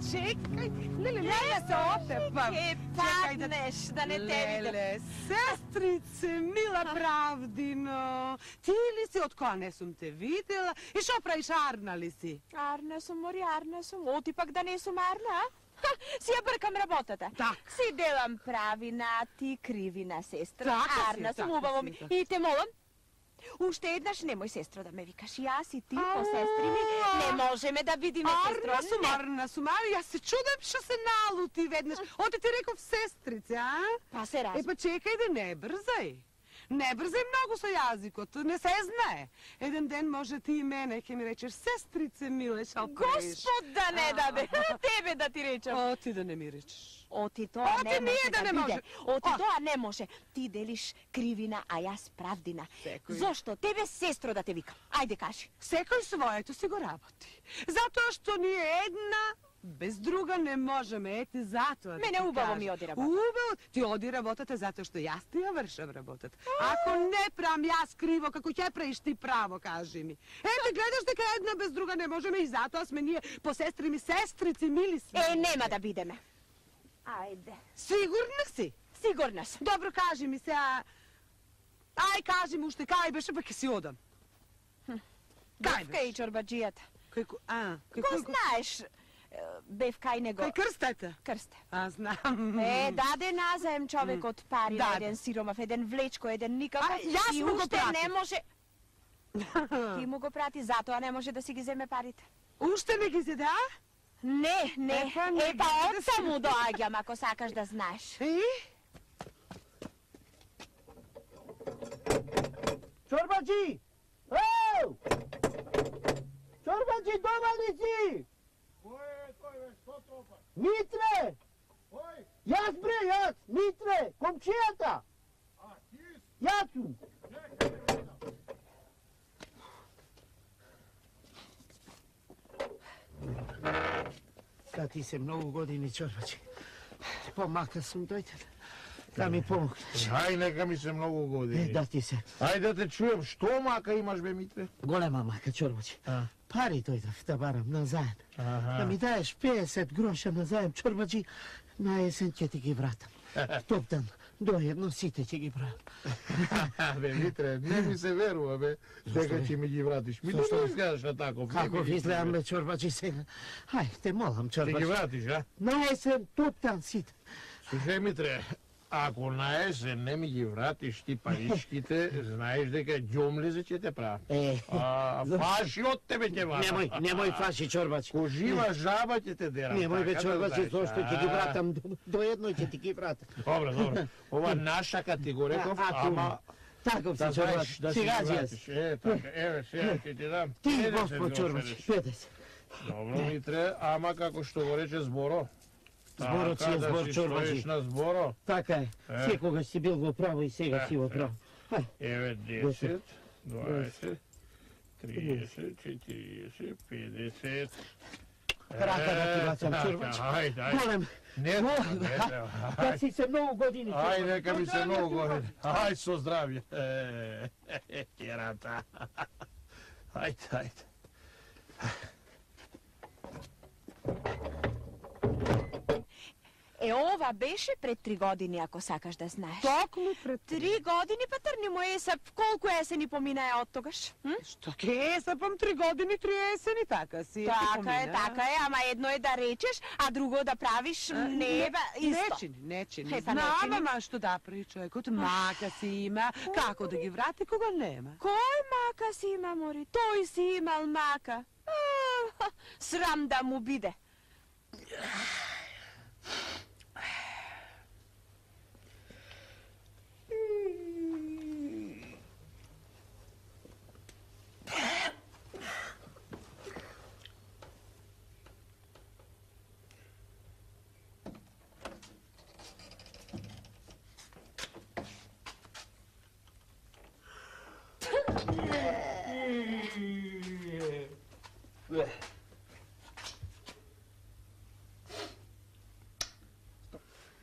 čekaj. Lele, ne se otepam. Padneš, da ne te vidim. Lele, sestrice, mila Pravdino. Ti li si, od koga ne sam te videla? I što praviš, Arna li si? Арна сум, мори, Арна сум. Оти пак да не сум Арна, а? Си ја бркам работата. Так. Си делам правина, ти кривина, сестра. Така си, Арна сум, така убаво си, ми. така. И те молам, уште еднаш немој сестро да ме викаш. Јас и ти по сестри ми не можеме да видиме сестро. Арна сум, јас се чудам што се налути веднаш. Оте ти реков сестрице, а? Па се Па чекај да не брзај. Не брзај многу со јазикот, не се знае. Еден ден може ти и мене ќе ми речеш сестрице миле, шал преш. Господ да не даде, тебе да ти речам. О, ти да не ми речеш. Оти тоа не може да не биде. може. Оти тоа не може. Ти делиш кривина, а јас правдина. Секој. Зошто? Тебе сестро да те викам. Ајде кажи. Секој своето си го работи. Затоа што ние една без друга не можеме, ети затоа. Мене убаво ми оди работа. Убаво ти оди работата затоа што јас ти ја вршам работата. Ако не правам јас криво, како ќе правиш ти право, кажи ми. Ете, гледаш дека една без друга не можеме и затоа сме ние по сестри ми, сестрици, мили сме. Нема да бидеме. Ајде. Сигурна си? Сигурна сум. Добро, кажи ми се, ај кажи ми уште кај беше, па ќе си одам. Бевка и чорбаджијата. Го знаеш, Бевка и него. Кај крстата? Крсте. Знам. Даде назаем човекот пари на еден сиромав, еден влечко, еден никаков. Јас и му го уште пратив. не може. Ти му го прати, затоа не може да си ги земе парите. Уште не ги зеде, а? Не. Епа отца му доаѓам, ако сакаш да знаеш. Чорбаджи! Еу! Чорбаджи, дома ли си? Кој е тој, бе, што тропа? Митре! Кој? Јас, бре, јас! Митре! Комчијата! А, ти? Јас сум! Чекај, бе, видам. Да ти се многу години, Чорбаджи. Помака сум, дојде да ми помогнеш. Ај, нека ми се многу години. Да ти се. Ајде да те чуем, што мака имаш, бе, Митре? Голема мака, Чорбаджи. Пари дојдов да барам на заем. Аха. Да ми даеш 50 гроша на заем, Чорбаджи, на есен ќе ти ги вратам. Топтан, доедно сите ќе ги правам. Бе, Митре, не ми се верува, бе, дека ќе ми ги вратиш. Ми Зошто? не изгледаш на таков. Како ви изгледам, бе, Чорбаджи, сега? Ај, те молам, Ќе Чорбаджи. ги вратиш, а? На есен, топтан сите. Слушај, Митре, ако на есен не ми ги вратиш ти паричките, знаеш дека ѓомлезе ќе те правам. Фаши од тебе ќе вратам. Немој фаши, Чорбаджи. Ко жива жаба ќе те дерам. Немој, бе, така да Чорбаджи, знаеш. зошто ќе ги вратам, доедно ќе ти ги вратам. Добро. Ова нашака ти го реков, ама... Таков си, Да Чорбаджи, знаеш да си сега ги си јас. вратиш. Така, еве, сега ќе ти дам. Ти, 50 Господ Чорбаджи, грошериш. 50. Добро, Митре, ама како што го рече Зборо. Зборот си е Така збор, да си Чорбаджи. стоиш на Зборо. Така е, секогаш си бил во право и сега си во право. Еве 10, 20, 30, 40, 50. Рака да ти бацам, Чорбаджи. Ајде. Голем, Не треба. да си се многу години, Ај, Чорбаджи. нека ми се многу години. Ај, со здравје. Керата. Ајде. Ова беше пред 3 години, ако сакаш да знаеш. Токму пред 3 години, па трни му есеп. Колку есени поминаа од тогаш? Што ке есапам 3 години, 3 есени, така си. Така е, ама едно е да речеш, а друго да правиш не е исто. Не чини. Па Знам, не чини. ама што да прави човекот, мака си има, како да ги врати кога нема. Кој мака си има, мори? Тој си имал мака. Срам да му биде.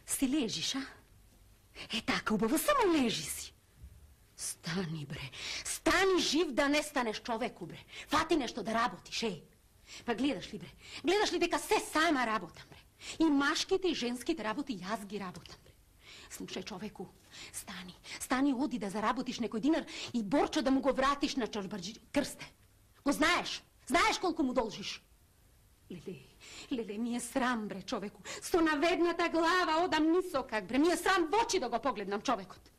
Си лежиш, а? Е така, убаво, само лежи си. Стани, бре. Стани жив да не станеш човеку, бре. Фати нешто да работиш, еј. Па гледаш ли, бре? Гледаш ли дека се сама работам, бре? И машките и женските работи јас ги работам, бре. Слушај, човеку, стани, оди да заработиш некој динар и Борчо да му го вратиш на чорбаджи крсте. Го знаеш? Знаеш колку му должиш? Леле, ми е срам, бре, човеку. Со наведната глава одам нисокак, бре. Ми е срам в очи да го погледнам човекот.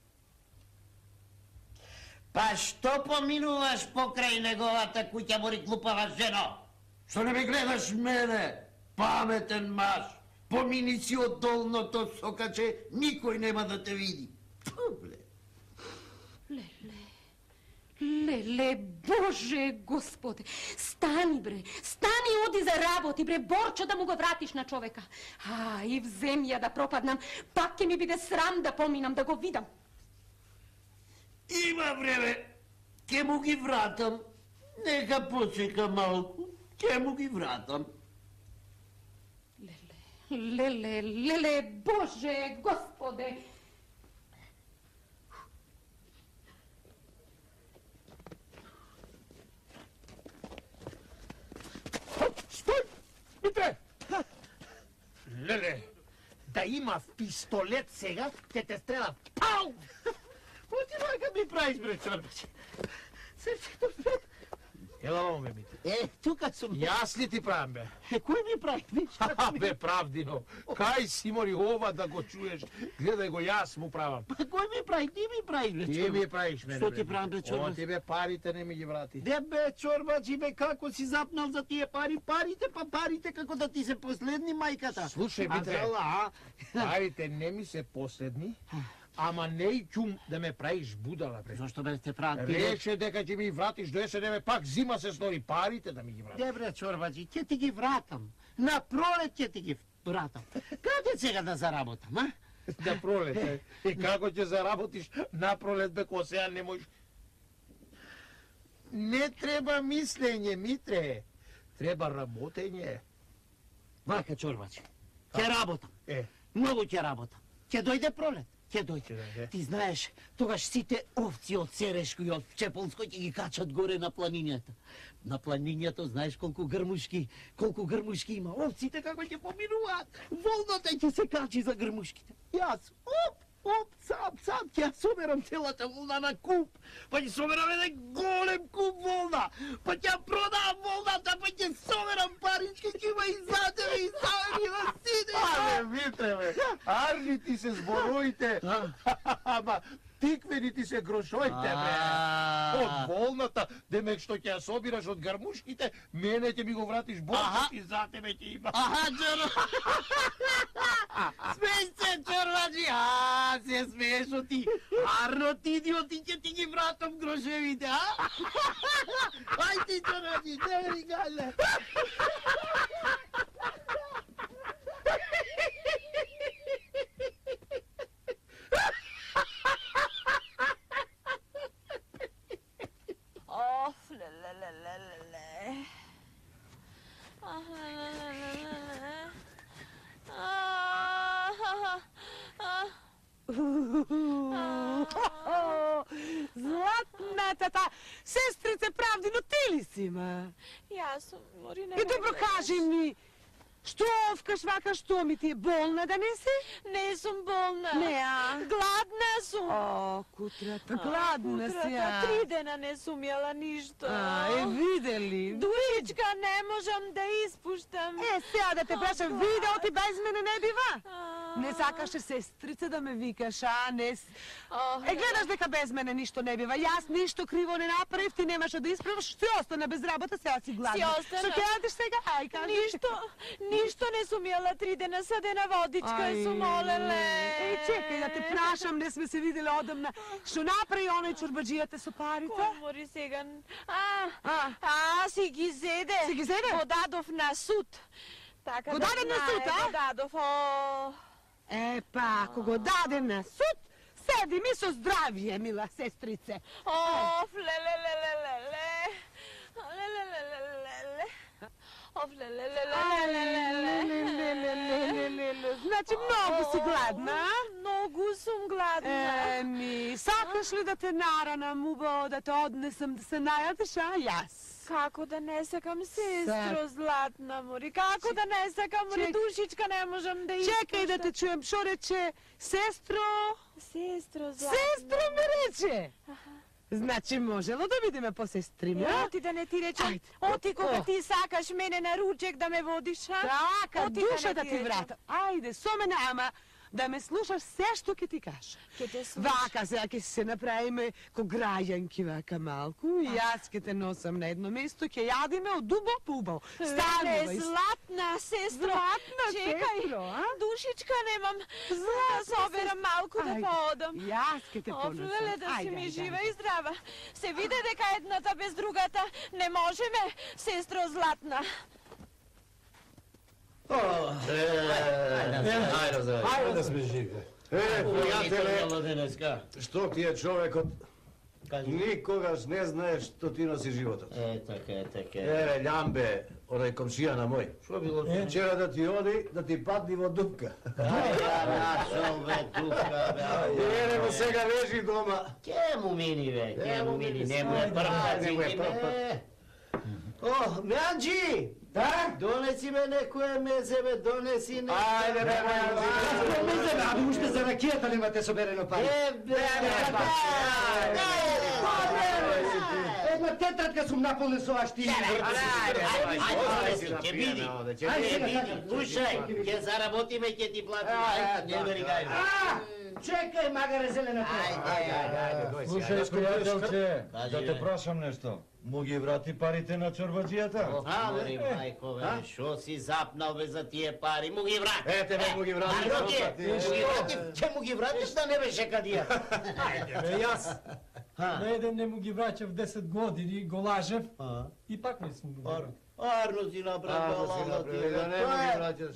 Па што поминуваш покрај неговата куќа, мори глупава жено? Што не ме гледаш мене, паметен маж? Помини си од долното сокаче, никој нема да те види. Публе. Леле, Боже, Господе, стани, бре, стани, оди за работи, бре, Борчо да му го вратиш на човека. И в земја да пропаднам, пак ќе ми биде срам да поминам, да го видам. Има време, ке му ги вратам. Нека почека малку, ке му ги вратам. Леле, Боже, Господе. Стој! Митре! Леле, да имав пистолет сега, ќе те стрелам. Пау! Отивај ка ми правиш, бре, чорбаче. Срцето, бре. Ела мамо, бе, Митре. Тука сум. Јас ли ти правам, бе? Кој ми прави? Бе, правдино. Кај си мори ова да го чуеш? Гледај го, јас му правам. Па кој ми прави? Ти ми правиш, бре, Ти ми правиш мене, Што бе. ти правам, бе, чорбаче? Ова тебе парите не ми ги врати. Де бе, чорбачи, бе, како си запнал за тие пари? Парите како да ти се последни, мајката. Слушај, Митре. Парите не ми се последни, ама не и чум да ме правиш будала, бре. Зошто бе те правам? Рече дека ќе ми вратиш до есен, пак зима се стори, парите да ми ги вратиш. Де бре, чорбачи, ќе ти ги вратам. На пролет ќе ти ги вратам. Каде сега да заработам, а? На пролет, и како ќе заработиш на пролет, бе, ко сега не можеш. Не треба мислење, Митре. Треба работење. Вака, чорбачи, ќе работам. Многу ќе работам. Ќе дојде пролет. Ќе дојде. Ти знаеш, тогаш сите овци од Серешко и од Чеполско ќе ги качат горе на планињата. На планињата знаеш колку грмушки има. Овците како ќе поминуваат. Волната ќе се качи за грмушките. Јас, сам, ќе ја соберам целата волна на куп. Па ќе соберам еден голем куп волна. Па ќе ја продавам волната, па ќе соберам парички, ќе има и за тебе, и за мене, на сите. Але, Митре, бе, арни ти се збороите. Ама, тиквени ти се грошоите, бре. Од волната, демек што ќе ја собираш од гармушките, мене ќе ми го вратиш Бог, и за тебе ќе има. Чоро. Смеј се, чорбачи. Се смееш ти. Арно ти идиоти, ќе ти ги вратам грошевите, Ај ти, чорбачи, не ми гале. Златната сестрице правди, но ти ли си, ма? Јас сум, мори не. И добро кажи ми, што овкаш вака, што ми ти е болна да не си? Не сум болна. Не, а? Гладна сум. О, кутрата, гладна си, Кутрата, 3 дена не сум јела ништо. Видели? Душичка, не можам да испуштам. Сега да те прашам, видео ти без мене не бива? Не сакаше сестрица да ме викаш, не... гледаш дека без мене ништо не бива. Јас ништо криво не направив, ти немаше да исправаш, си остана без работа, сега си гладна. Си остана. Што ќе радиш сега? Ај, кажи. Ништо не сум јела 3 дена, садена водичка сум олеле. Чекај да те прашам, не сме се видели одамна. Што направи оној чорбаджијата со парите? Комори сега. Си ги зеде. Си ги зеде? Го дадов на суд. Така Го даде на суд, Го дадов, па, ако го даде на суд, седи ми со здравие, мила сестрице. Значи многу си гладна, Многу Многу сум гладна. Еми, сакаш ли да те наранам убаво, да те однесам да се најадеш, а? Јас. Како да не сакам, сестро Сак. златна мори? Како да не сакам, мори? Душичка не можам да испуштам. Чекај да те чуем, шо рече? Сестро? Сестро златна. Сестро ме рече. Значи можело да бидеме по сестриме, а? Оти да не ти речам. Ајде. Оти кога ти сакаш мене на ручек да ме водиш, а? Така, Оти душа не да ти речам. врата. Ајде, со мене, ама да ме слушаш се што ќе ти кажа. Ќе те слушам. Вака сега ќе се направиме ко граѓанки вака малку и јас ќе те носам на едно место, ќе јадиме од убаво по убаво. Станува Не, и златна сестро. Златна Чекај, сестро, а? душичка немам. Да соберам малку да Ајде, поодам. Јас ќе те понесам. Офлеле да си Ајде, ми ајде, жива ајде. и здрава. Се виде дека едната без другата не можеме, сестро златна. Ајде да сме живи. Пријателе, Што ти е човекот? Никогаш не знаеш што ти носи животот. Така. Еве, Љамбе, онај комшија на мој. Што било? Вчера да ти оди, да ти падни во дупка. Еве го сега лежи дома. Ке му мини, бе, ке му мини, не му е прв пат, Не му е види прв пат. ме. О, Меанджи! Да? Донеси ме некое мезе, бе, донеси некое. Ајде, бе, Аби уште за ракијата немате соберено пари. Една тетрадка сум наполнен со вашти. Ќе види, слушај, ќе заработиме, ќе ти платиме, ајде, не вери гај. Чекај, магаре зелената. Слушај, пријателче, Кажи, да те бе. прашам нешто. Му ги врати парите на чорбаджијата? Мори, мајко, бе, шо си запнал, бе, за тие пари, му ги врати. Ете, бе, му ги врати. Ќе му ги вратиш да не беше кадија. Бе, јас на еден не му ги враќав 10 години, го лажев и пак не сум го вратил. Арно си направил, лало ти, да не му ги враќаш.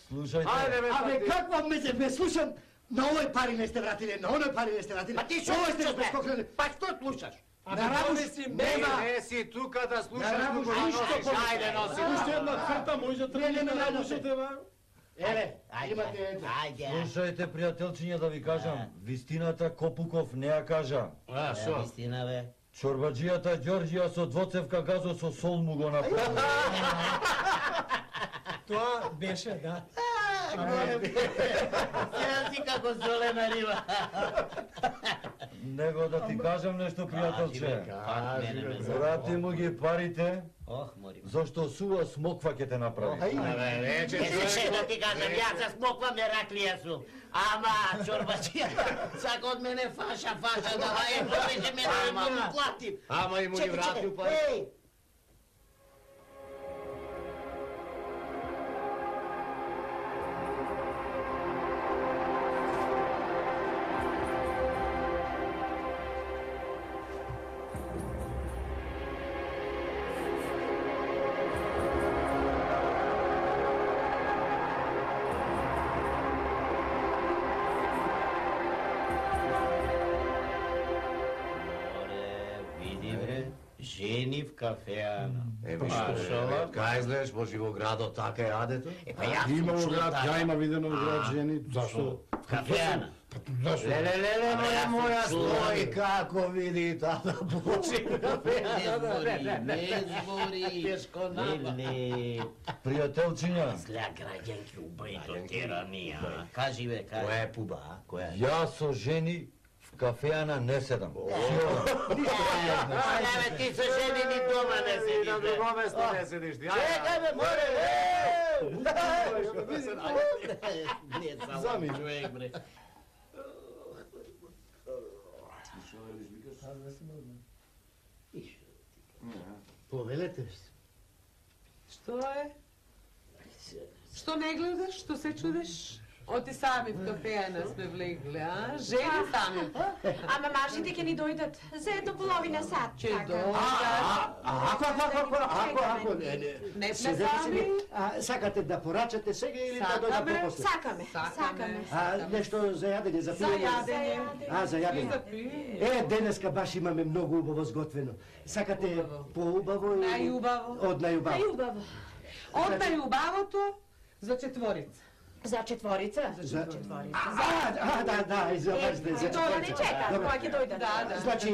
Слушајте, Ајде, бе, Абе, пати. каква мезе, бе, слушам, на овој пари не сте вратиле, на оној пари не сте вратиле. А ти шо Овој сте слушаш, бе? прескокнале. Па што слушаш? Абе, донеси нема. Не си тука да слушаш, Да, туку Рабуш, ништо носиш. повеќе. Ајде, носи. Уште една хрта може да тргне не, на не, душите, ба. Еве, имате ето. Ајде. слушајте, пријателчиња, да ви кажам, вистината Копуков не ја кажа. А, шо? Вистина, бе. Чорбаджијата Ѓорѓија со двоцевка газо со сол му го направи. Тоа беше, да. Сега си како зелена риба. Него да ти кажам нешто, пријателче. Пак мене ме Врати му ги парите, Ох, мори. зашто сува смоква ќе те направи. Абе, вече Еше, да ти кажам, јас за смоквам раклија сум. Ама, чорбачија, сака од мене фаша, давај, повеќе мене да му платим. Ама и му ги вратил пари. Еј, види бре, жени в кафеана. Еми што, кај знаеш, може во градот така е адето? Па јас Има сум во чул град, така. ја има видено во град жени, зашто? В кафеана. Леле, јас моја сум чул. стои како види тата почи Не збори. Тешко Или... Пријателчиња, Зля граѓанки убај до теранија. Кажи бе, кажи. Која е пуба, а? Која е? јас со жени в кафеана не седам. Абе, ти со жени ни дома не седиш, На бе. друго место не седиш ти. Чекај бе, море, Не, само Зами. човек, бре. Повелете се. Што е? Што не гледаш? Што се чудиш? Оти сами в кафеана сме влегли, а? Жени сами. Ама мажите ќе ни дојдат за едно половина сат. Ќе така. дојдат. Не сме сами. Сакате да порачате сега или да дојдат Сакаме. попосле? Сакаме, сакаме. Нешто за јадење, за За пиење? јадење. За И јадење. за пиење. Денеска баш имаме многу убаво сготвено. Сакате поубаво или... Најубаво. Од најубаво. Најубаво. Од најубавото за четворица. За четворица? За четворица. Да, извинете, за Тоа не четворица. чека, Добре. кога ќе дојдат. Да, Значи,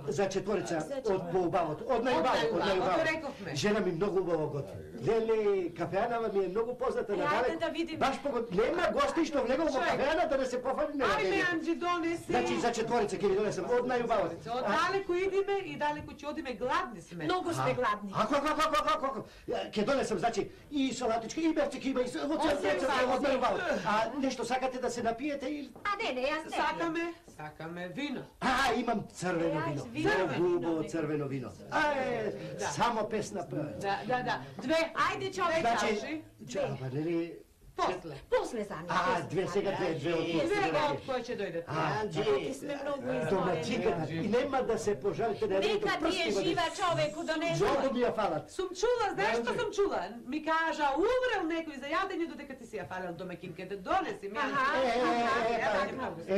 за четворица од поубавото, од најубавото. рековме. Жена ми многу убаво готви. Леле, кафеанава ми е многу позната на Ајде да видиме. Баш нема гости што влегол во кафеана да не се пофали на Ајде, неделјата. Анджи, донеси. Значи, за четворица ќе ви донесам, од најубавото. Од далеко идиме и далеко ќе одиме, гладни сме. Многу сме гладни. Ако, ќе донесам, значи, и салатичка, и берчик има, и од најубавото. А нешто сакате да се напиете или... Не, јас не. Сакаме вино. Имам црвено вино. Многу убаво црвено вино. Само песна пее. Да. Две. Ајде, човек. Значи, ама нели... После за две сега, две од Две од кој ќе дојдат. Ти сме многу домачиката. И нема да се пожалите да Нека ти е жива човеку, донесува. Многу ми ја фалат. Сум чула, знаеш што сум чула? Ми кажа, умрел некој за јадење додека ти си ја фалел домакинката. Донеси ми.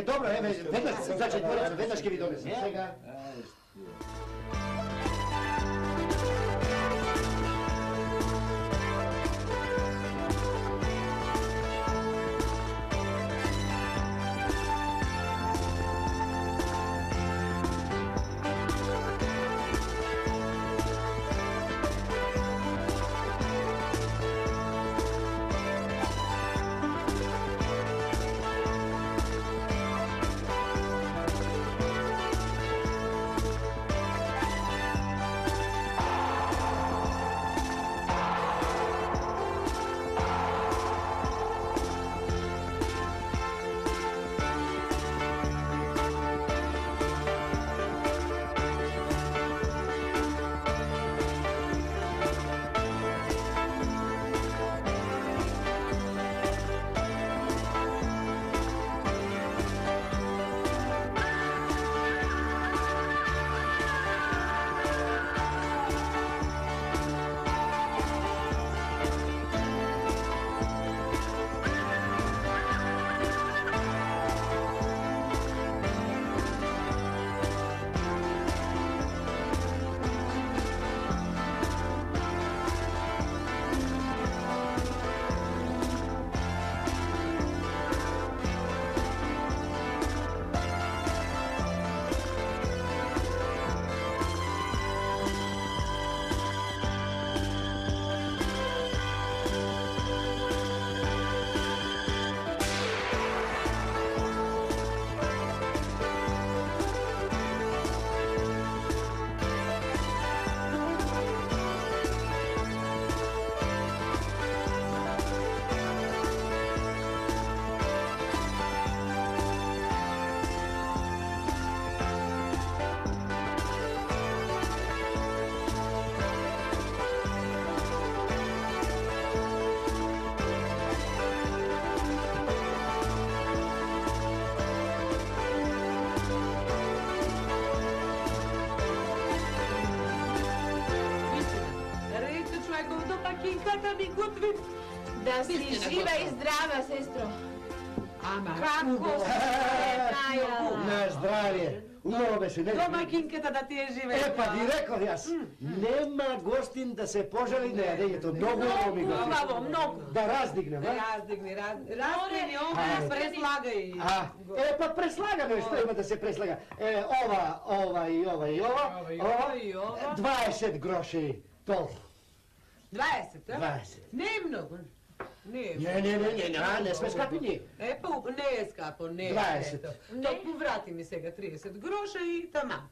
Добро, веднаш, значи, веднаш ќе ви донесам. Сега... Да си жива и здрава, сестро. Ама, Како се најала? На здравје. Убаво беше, не? Домакинката да ти е живе. Па ви реков јас. Нема гостин да се пожали на јадењето. Многу ми го. Убаво, многу. Да раздигнем, а? Раздигни, ова, преслагај. Па преслагаме, што има да се преслага? Ова и ова. 20 гроши. Толку. 20, а? 20. Не е многу. Не сме скапи ние. Па, не е скапо, не е. 20. Токму врати ми сега 30 гроша и тама.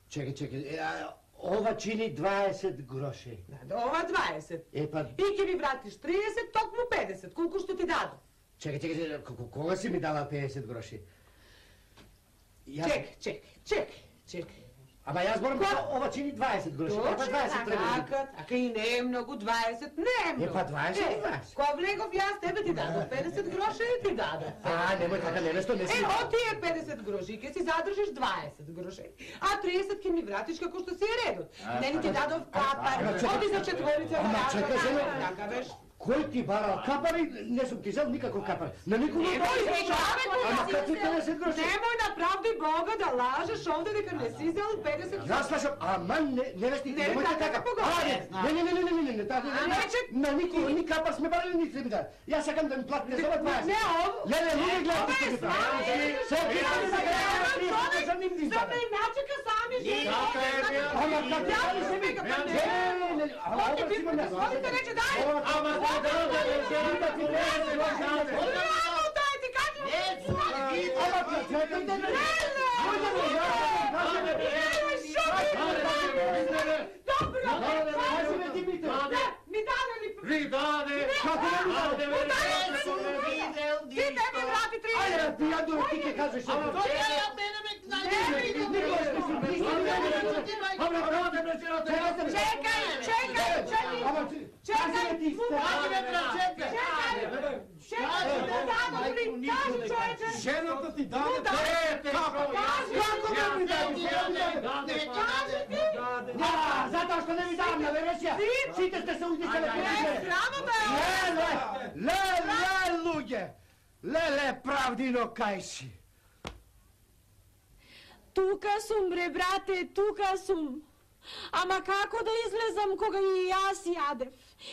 Чекај, ова чини 20 гроши. Ова 20. И ќе ми вратиш 30, токму 50. Колку што ти дадо? Чекај, кога си ми дала 50 гроши? Чекај. Ама јас борам ова чини 20 гроши. Точно така, така и не е многу 20, не е многу. 20. Кога влегов јас, тебе ти дадов 50 гроша и ти дадов. Немој така, нешто не си. О, тие 50 гроши, ќе си задржиш 20 гроши, а 30 ќе ми вратиш како што си е редот. Не ни ти дадов капар, оди за четворица. Ама чекай, така беше. Кој ти барал капари? Не сум ти зел никаков капар. На никога не Ама как ти 50 гроши? Немој на правди Бога да лажеш овде дека не си зел 50 гроши. Јас слушам, ама невести, немојте така. Не, на никога ни капар сме барали ни се бида. Јас сакам да ми платите за ова 20. Не, Леле, луѓе гледате што ги прави. Сам не начека сами жени. Ама како Ја се вика, Волите рече, дай! Ама Жената ти даде. Затоа што не ви давам на вересија. Сите сте се уздишали. Леле, луѓе. Леле, правдино кај си. Тука сум, бре, брате, тука сум. Ама како да излезам кога и јас јадев?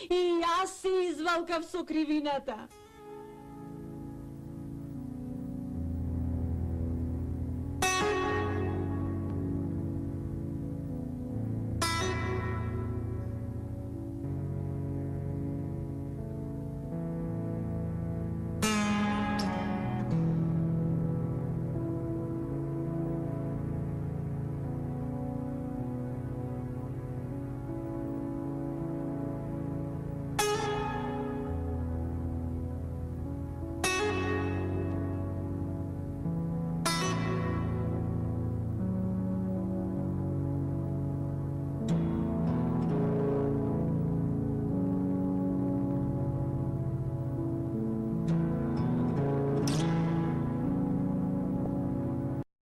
И јас се извалкав со кривината.